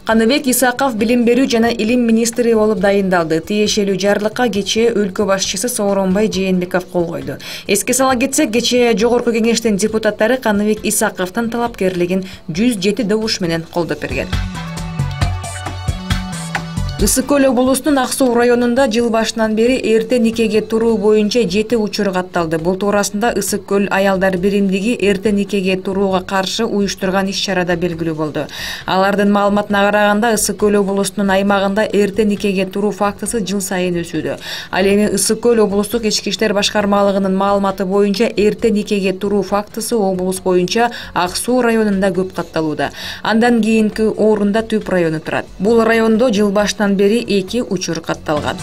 Каныбек Исаков билим берүү жана илим министри болуп дайындалды. Тиешелүү жарлыкка кечээ өлкө башчысы Сооронбай Жээнбеков кол койду. Эске сала кетсек, кечээ Жогорку Кеңештин депутаттары Каныбек Исаковдун талапкерлигин 107 добуш менен колдоп берген. Ысык көл облусунун Ак Суу районунда жыл башынан бери эрте никеге туруу боюнча 7 учур катталды. Бул туурасында Ысык көл аялдар биримдиги эрте никеге турууга каршы уюштурган иш-чарада белгилүү болду. Алардын маалыматына караганда, Ысык көл облусунун аймагында эрте никеге туруу фактысы жыл сайын өсүүдө. Ал эми Ысык көл облустук ички иштер башкармалыгынын маалыматы боюнча эрте никеге туруу фактысы облус боюнча Ак Суу районунда көп катталууда. Андан кийинки орунда Түп району турат. Бул райондо жыл башынан бери 2 учур катталган.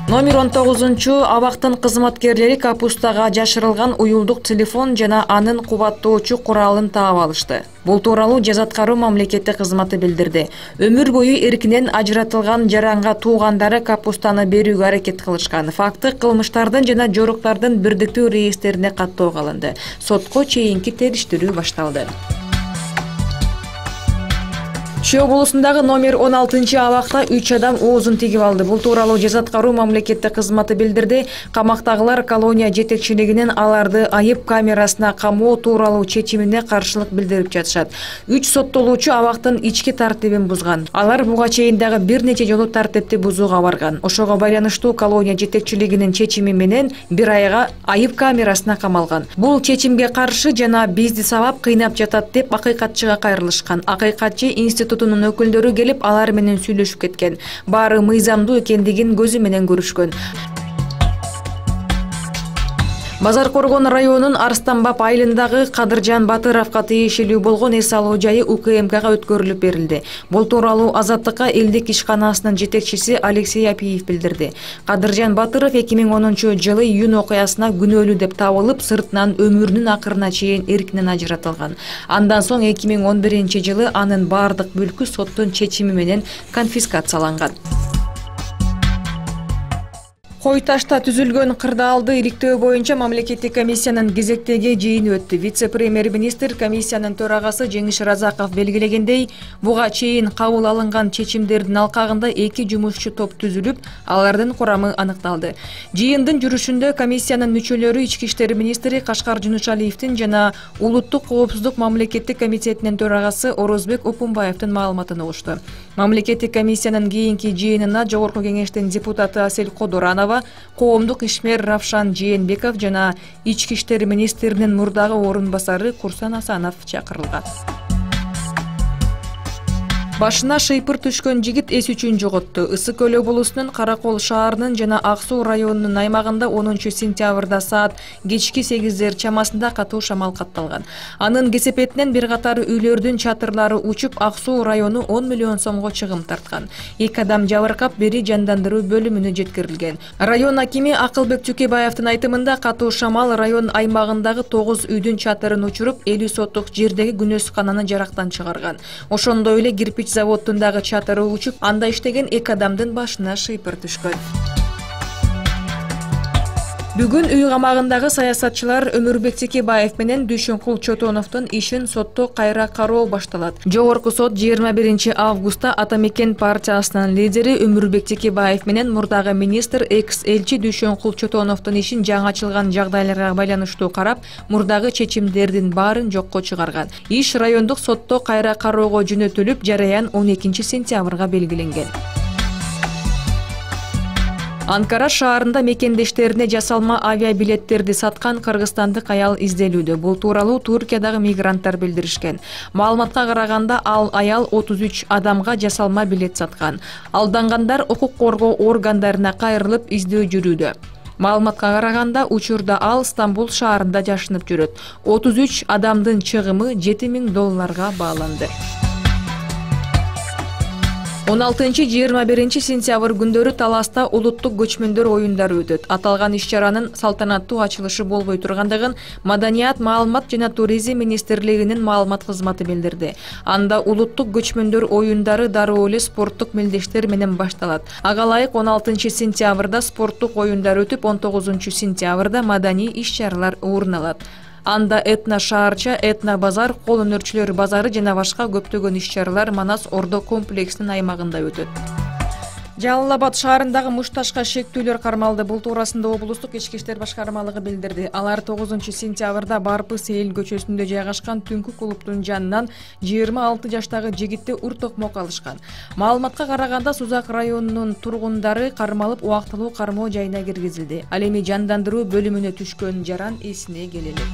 Номер 19 абактын кызматкерлери капустага жашырылган уюлдук телефон жана анын кубаттоочу куралын таап алышты. Бул тууралуу жаза аткаруу мамлекеттик кызматы билдирди. Өмүр бою эркинен ажыратылган жаранга туугандары капустаны берүүгө аракет кылышкан. Факты кылмыштардын жана жоруктардын бирдиктүү реестрине каттоого алынды. Сотко чейинки териштирүү башталды. Чүй облусундагы номер 16 абакта 3 адам оозун тигип алды. Бул тууралуу жаза аткаруу мамлекеттик кызматы билдирди. Камактагылар колония жетекчилигинин аларды айып камерасына камоо тууралуу чечимине каршылык билдирип жатышат. 3 соттолуучу абактын ички тартибин бузган. Алар буга чейин дагы бир нече жолу тартипти бузууга барган. Ошого байланыштуу колония жетекчилигинин чечими менен 1 айга айып камерасына камалган. Бул чечимге каршы жана бизди сабап кыйнап жатат деп акыйкатчыга кайрылышкан. Акыйкатчы институтунун өкүлдөрү келип алар менен сүйлөшүп кеткен. Баары мыйзамдуу экендигин көзү менен көрүшкөн. Базар Коргон районунун Арстанбап айылындагы Кадыржан Батыровго тиешелүү болгон эс алуу жайы УКМКга өткөрүлүп берилди. Бул тууралуу Азаттыкка элдик ишканасынын жетекчиси Алексей Апиев билдирди. Кадыржан Батыров 2010-жылы июнь окуясына күнөөлүү деп табылып, сыртынан өмүрүнүн акырына чейин эркинен ажыратылган. Андан соң 2011-жылы анын бардык мүлкү соттун чечими менен конфискацияланган. Кой ташта түзүлгөн кырдаалды иликтөө боюнча мамлекеттик комиссиянын кезектеги жыйыны өттү. Вице-премьер-министр комиссиянын төрагасы Жеңиш Разаков белгилегендей, буга чейин кабыл алынган чечимдердин алкагында 2 жумушчу топ түзүлүп, алардын курамы аныкталды. Жыйындын жүрүшүндө комиссиянын мүчөлөрү ички иштер министри Кашкар Жунушалиевдин жана Улуттук коопсуздук мамлекеттик комитетинин төрагасы Орозбек Опунбаевдин маалыматын угушту. Мамлекеттик комиссиянын кийинки жыйынына Жогорку Кеңештин депутаты Асель Кодуранова, коомдук ишмер Равшан Жээнбеков жана ички иштер министринин мурдагы орун басары Курсан Асанов чакырылган. Башына шыйпыр түшкөн жигит эс үчүн жоготту. Ысык көл облусунун Каракол шаарынын жана Ак Суу районунун аймагында 10 сентябрда саат кечки 8 чамасында катуу шамал катталган. Анын кесепетинен бир катар үйлөрдүн чатырлары учуп, Ак Суу району 10 миллион сомго чыгым тарткан. 2 адам жабыркап, бири жандандыруу бөлүмүнө жеткирилген. Район акими Акылбек Чукебаевдин айтымында, катуу шамал район аймагындагы 9 үйдүн чатырын учуруп, 50 соттук жердеги күнөскананы жарактан чыгарган. Ошондой эле кирпич заводундагы чатыры учуп, анда иштеген 2 адамдын башына шыйпыр түшкөн. Бүгүн үй камагындагы саясатчылар Өмүрбек Текебаев менен Дүйшөнкул Чотоновдун ишин сотто кайра кароо башталат. Жогорку сот 21 августта Ата Мекен партиясынын лидери Өмүрбек Текебаев менен мурдагы министр экс-элчи Дүйшөнкул Чотоновдун ишин жаңы ачылган жагдайларга байланыштуу карап, мурдагы чечимдердин баарын жокко чыгарган. Иш райондук сотто кайра кароого жөнөтүлүп, жараян 12 сентябрга белгиленген. Анкара шаарында мекендештерине жасалма авиабилеттерди саткан кыргызстандык аял изделүүдө. Бул тууралуу Туркиядагы мигранттар билдиришкен. Маалыматка караганда, ал аял 33 адамга жасалма билет саткан. Алдангандар укук коргоо органдарына кайрылып издөө жүрүүдө. Маалыматка караганда, учурда ал Стамбул шаарында жашынып жүрөт. 33 адамдын чыгымы $7000 бааланды. 16-21 сентябрь күндөрү Таласта улуттук көчмөндөр оюндары өтөт. Аталган иш-чаранын салтанаттуу ачылышы болбой тургандыгын Маданият, маалымат жана туризм министрлигинин маалымат кызматы билдирди. Анда улуттук көчмөндөр оюндары дароо эле спорттук мелдештер менен башталат. Ага ылайык 16 сентябрда спорттук оюндар өтүп, 19 сентябрда маданий иш-чаралар орун алат. Анда этно шаарча, этно базар, кол өнөрчүлөр базары жана башка көптөгөн иш-чаралар Манас Ордо комплексинин аймагында өтөт. Жалал Абад шаарындагы мушташка шектүүлөр кармалды. Бул туурасында облустук ички иштер башкармалыгы билдирди. Алар 9-сентябрда Барпы Сейил көчөсүндө жайгашкан түнкү клубдун жанынан 26 жаштагы жигитти ур токмок алышкан. Маалыматка караганда Сузак районунун тургундары кармалып убактылуу кармоо жайына киргизилди. Ал эми жандандыруу бөлүмүнө түшкөн жаран эсине келели.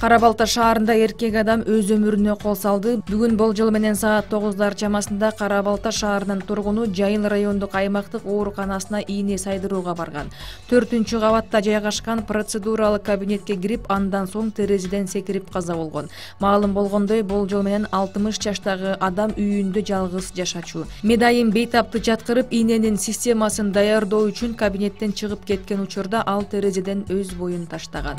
Кара Балта шаарында эркек адам өз өмүрүнө кол салды. Бүгүн болжол менен саат 9 чамасында Кара Балта шаарынын тургуну Жайыл райондук аймактык ооруканасына ийне сайдырууга барган. 4-кабатта жайгашкан процедуралык кабинетке кирип, андан соң терезеден секирип каза болгон. Маалым болгондой, болжол менен 60 жаштагы адам үйүндө жалгыз жашачу. Медайым бейтапты жаткырып, ийненин системасын даярдоо үчүн кабинеттен чыгып кеткен учурда ал терезеден өз боюн таштаган.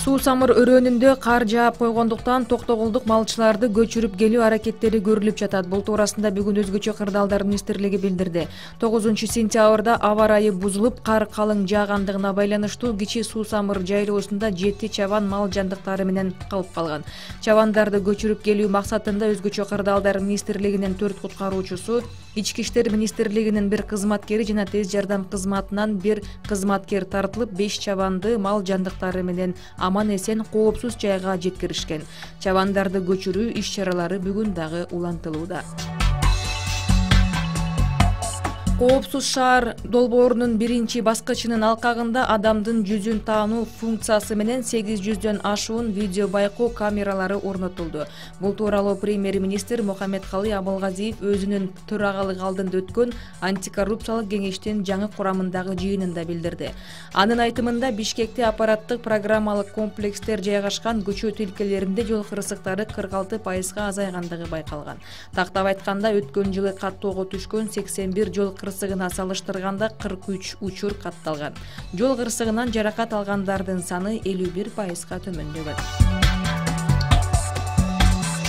Суу самыр өрөөнүндө кар жаап койгондуктан токтогулдук малчыларды көчүрүп келүү аракеттери көрүлүп жатат. Бул туурасында бүгүн Өзгөчө кырдаалдар министрлиги билдирди. 9-сентябрда аба ырайы бузулуп, кар калың жаагандыгына байланыштуу кичи суу самыр жайлоосунда 7 чабан мал жандыктары менен калып калган. Чабандарды көчүрүп келүү максатында Өзгөчө кырдаалдар министрлигинин 4 куткаруучусу, Ички иштер министрлигинин 1 кызматкери жана тез жардам кызматынан 1 кызматкер тартылып, 5 чабанды мал жандыктары менен аман-эсен коопсуз жайга жеткиришкен. Чабандарды көчүрүү иш-чаралары бүгүн дагы улантылууда. Коопсуз шаар долбоорунун 1-баскычынын алкагында адамдын жүзүн таануу функциясы менен 800дөн ашуун видео байкоо камералары орнотулду. Бул тууралуу премьер-министр Мухаммедкалый Абылгазиев өзүнүн төрагалык алдында өткөн антикоррупциялык кеңештин жаңы курамындагы жыйынында билдирди. Анын айтымында Бишкекте аппараттык программалык комплекстер жайгашкан көчө тилкелеринде жол кырсыктары 46%га азайгандыгы байкалган. Тактап айтканда, өткөн жылы каттоого түшкөн 81 жол кырсыгына салыштырганда 43 учур катталган. Жол кырсыгынан жаракат алгандардын саны 51%га төмөндөгөн.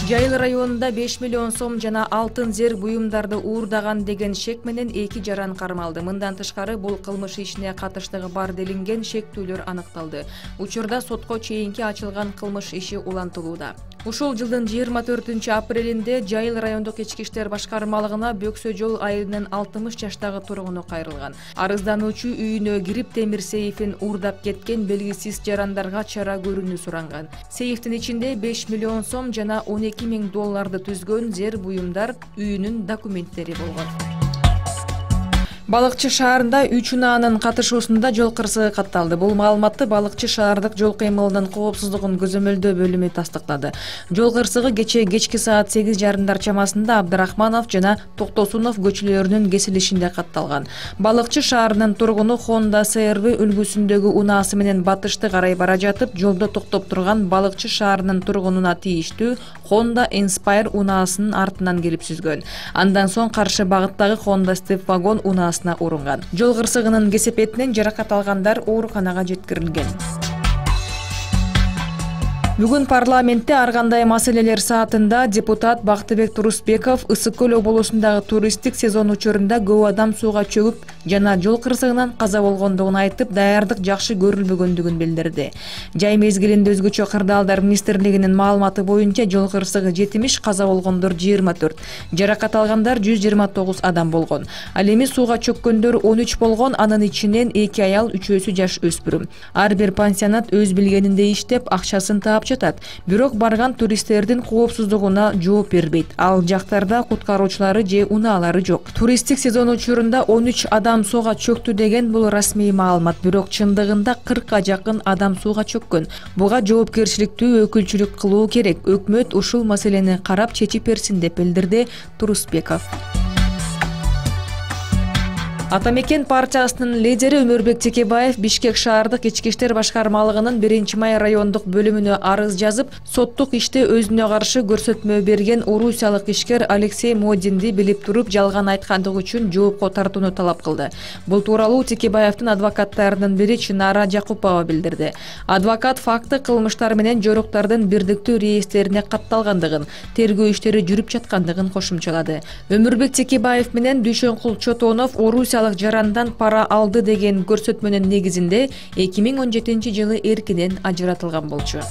Жайыл районунда 5 миллион сом жана алтын зер буюмдарды уурдаган деген шек менен 2 жаран кармалды. Мындан тышкары бул кылмыш ишине катыштыгы бар делинген шектүүлөр аныкталды. Учурда сотко чейинки ачылган кылмыш иши улантылууда. Ушул жылдын 24-апрелинде Жайыл райондук ички иштер башкармалыгына Бөксө жол айылынын 60 жаштагы тургуну кайрылган. Арыздануучу үйүнө кирип темир сейфин уурдап кеткен белгисиз жарандарга чара көрүүнү суранган. Сейфтин ичинде 5 миллион сом жана 12 000 долларды түзгөн зер буюмдар, үйүнүн документтери болгон. Балыкчы шаарында 3 унаанын катышуусунда жол кырсыгы катталды. Бул маалыматты Балыкчы шаардык жол кыймылынын коопсуздугун көзөмөлдөө бөлүмү тастыктады. Жол кырсыгы кечки саат 8:30 чамасында Абдрахманов жана Токтосунов көчөлөрүнүн кесилишинде катталган. Балыкчы шаарынын тургуну Honda CR-V үлгүсүндөгү унаасы менен батышты карай бара жатып, жолдо токтоп турган Балыкчы шаарынын тургунуна тийиштүү Honda Inspire унаасынын артынан келип сүзгөн. Андан соң каршы багыттагы Honda Step вагон унаасы урунган. Жол кырсыгынын кесепетинен жаракат алгандар ооруканага жеткирилген. Бүгүн парламентте ар кандай маселелер саатында депутат Бактыбек Турусбеков Ысык көл облусундагы туристтик сезон учурунда көп адам сууга чөгүп жана жол кырсыгынан каза болгондугун айтып, даярдык жакшы көрүлбөгөндүгүн билдирди. Жай мезгилинде Өзгөчө кырдаалдар министрлигинин маалыматы боюнча жол кырсыгы 70, каза болгондор 24, жаракат алгандар 129 адам болгон. Ал эми сууга чөккөндөр 13 болгон, анын ичинен 2 аял, 3-өсү жаш өспүрүм. Ар бир пансионат өз билгениндей иштеп, акчасын таап жатат. Бирок барган туристтердин коопсуздугуна жооп бербейт. Ал жактарда куткаруучулары же унаалары жок. Туристтик сезон учурунда 13 адам сууга чөктү деген бул расмий маалымат, бирок чындыгында 40га жакын адам сууга чөккөн. Буга жоопкерчиликтүү өкүлчүлүк кылуу керек. Өкмөт ушул маселени карап чечип берсин деп билдирди Турусбеков. Ата мекен партиясынын лидери Өмүрбек Текебаев Бишкек шаардык ички иштер башкармалыгынын 1-май райондук бөлүмүнө арыз жазып, соттук иште өзүнө каршы көрсөтмө берген орусиялык ишкер Алексей Модинди билип туруп жалган айткандыгы үчүн жоопко тартууну талап кылды. Бул тууралуу Текебаевдин адвокаттарынын бири Чынара Жакупова билдирди. Адвокат факты кылмыштар менен жоруктардын бирдиктүү реестрине катталгандыгын, тергөө иштери жүрүп жаткандыгын кошумчалады. Өмүрбек Текебаев менен Дүйшөнкул Чотонов Орусия канчалык жарандан пара алды деген көрсөтмөнүн негизинде 2017-жылы эркинен ажыратылган болчу.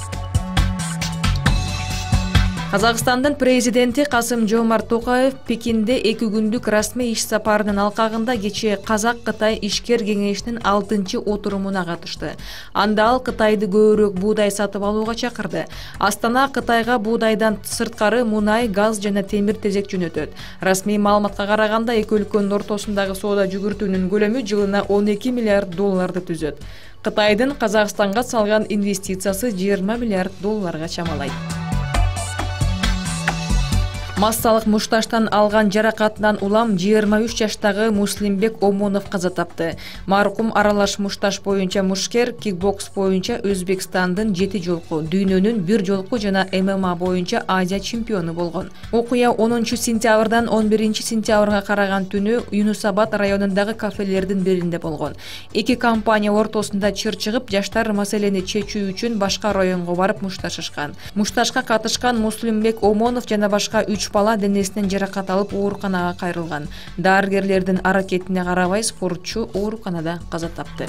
Казакстандын президенти Касым-Жомарт Токаев Пекинде 2 күндүк расмий иш сапарынын алкагында кечээ Казак-Кытай ишкер кеңешинин 6-отурумуна катышты. Анда ал Кытайды көбүрөөк буудай сатып алууга чакырды. Астана Кытайга буудайдан сырткары мунай, газ жана темир-тезек жөнөтөт. Расмий маалыматка караганда эки өлкөнүн ортосундагы соода жүгүртүүнүн көлөмү жылына 12 миллиард долларды түзөт. Кытайдын Казакстанга салган инвестициясы 20 миллиард долларга чамалайт. Массалык мушташтан алган жаракатынан улам 23 жаштагы Муслимбек Омонов каза тапты. Маркум аралаш мушташ боюнча мушкер, кикбокс боюнча Өзбекстандын 7 жолку, дүйнөнүн 1 жолку жана ММА боюнча Азия чемпиону болгон. Окуя 10-сентябрдан 11-сентябрга караган түнү Юнусабад районундагы кафелердин биринде болгон. Эки компания ортосунда чыр чыгып, жаштар маселени чечүү үчүн башка районго барып мушташышкан. Мушташка катышкан Муслимбек Омонов жана башка 3 бала денесинен жаракат алып ооруканага кайрылган. Дарыгерлердин аракетине карабай спортчу ооруканада каза тапты.